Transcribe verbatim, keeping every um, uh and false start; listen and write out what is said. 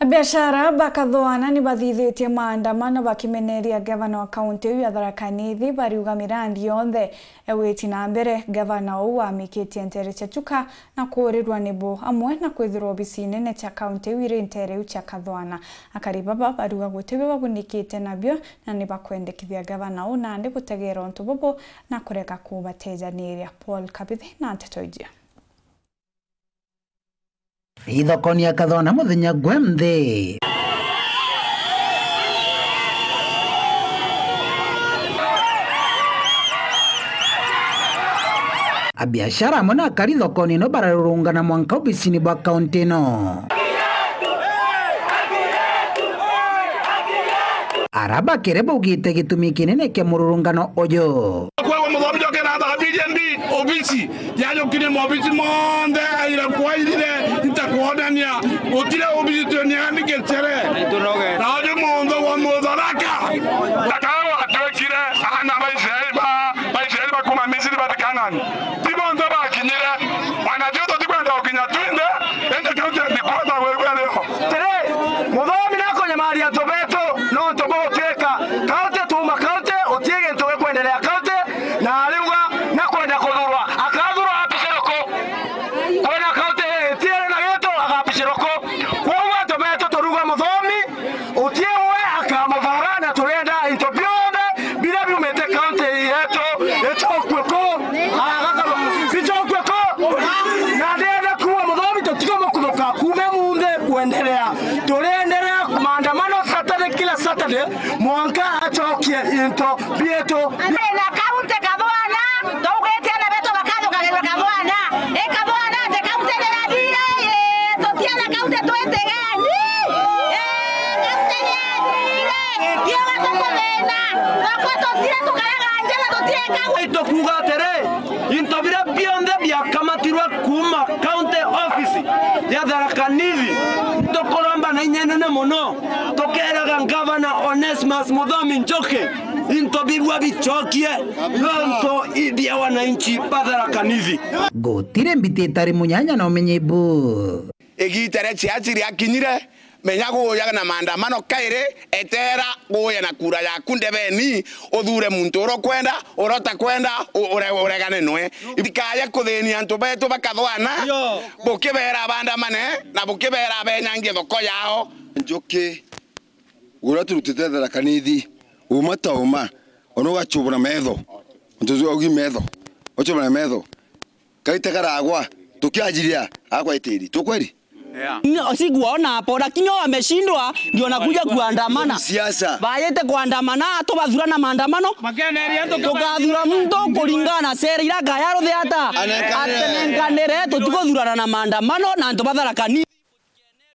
Abiashara ba Kathwana ni bathithitie maandamano bakimeneria gavana wa kaunti iu ya Tharaka Nithi, bariuga mirandi yonthe ewiti na mbere, gavana uu amikitie ntere cia Chuka na kuurirwa nibo, amwe na kwithirwa obisi nene cia kaunti iu iri ntere iu cia Kathwana. Akari baba bariuga gutibio babunikite nabio na ni bakwendekithia gavana uu nandi gutegeera untu bubu na kurega kubatejaniria. Paul Kabithi na nteto iji. Ithokoni ya Kathwana muthenya gwe nthi. Abiashara amwe na akari thokoni ino bararurungana mwanka obisini bwa kaunti ino. Ara bakere baugite gitumi kinene kia mururungano uju. Kwagwa muthomi njoke na thambiririe mbi obisi. Yajukirie mobisi monthe, aira kwairire, ntakwonania, gutire obisi tweniani gicere. Na uju muntu wa Mutharaka. Ndakawa atwekire aana ba Israeli ba, ba Israeli bakuma Misiri bati Kanaani. Ti bonthe bakinyire. Wanajuto tikwenda gukinya twinthe, indi kaunti ya Ndikwata gwegwe leo. Tiri, muthomi nakunyamaria antu betu, nontu bugutwika kaunti tuuma kaunti, utie gintu gikwenderea kaunti, na ariuga nakwenda kuthurwa. Akathurwa apicire ku? Kwina kaunti itiere na gitu, agapicirwa ku? Kwoguo antu betu turuga muthomi, utie we akamuthura, na turenda into bionthe biria biumite kaunti yetu bicokue ku? Agakama, bicokue ku? Na ndenda kuuga muthomi, tutikumukuthuka kuuma munthi kwenderea. Turienderea maandamano Saturday, kila Saturday, mwanka acokie into bietu. Na kaunti Kathwana, tuugite ana betu bakathukagirwa Kathwana. I Kathwana ati kaunti ni ya D A, tutiana kaunti twitigeni. Eh, kaunti ni ya D A, tiwe tukuthina. Nakwa tutire tukaraga njara, tutieka gu- Itukuuga atiri, into biria bionthe biakamatirwe kuuma county office ya Tharaka Nithi, nitukuromba na inya inene mono, tukeeraga Ngavana Onesmus Muthomi Njuki, into bibua bicokie nontu ibia wananchi ba Tharaka Nithi. Gutiri mbiti itari munyanya na umenyi bu. Igiita ria ciaci riakinyire, menya guuja na maandamano kairi, eteera guuja na kura yaku ndebeni, uthure muntu uria ukwenda, uria utakwenda, u-, ure-, uregane nwe. Itikaye kuthinia antu betu ba Kathwana, bukibeera bandamane, na bukibeera benyangie thoko yao. Njuki, uria turutite Tharaka Nithi, uma ta uma, ona ugachubura metho. Untu ucio ugi metho, uchubura metho. Kaite karagwa, tukiajiria, agwa itiri. Tu kweli? Yeah. Ni-, sikuwaona hapo, lakini wao wameshindwa, ndio wanakuja kuandamana. Siasa. Bayete kuandamana, tubathura na maandamano. Tukathura mtu kulingana na sera ira gaya ruthe ata. Anenkanire. Atenenkanire, tutikuthurana na maandamano, na antu ba Tharaka Nithi.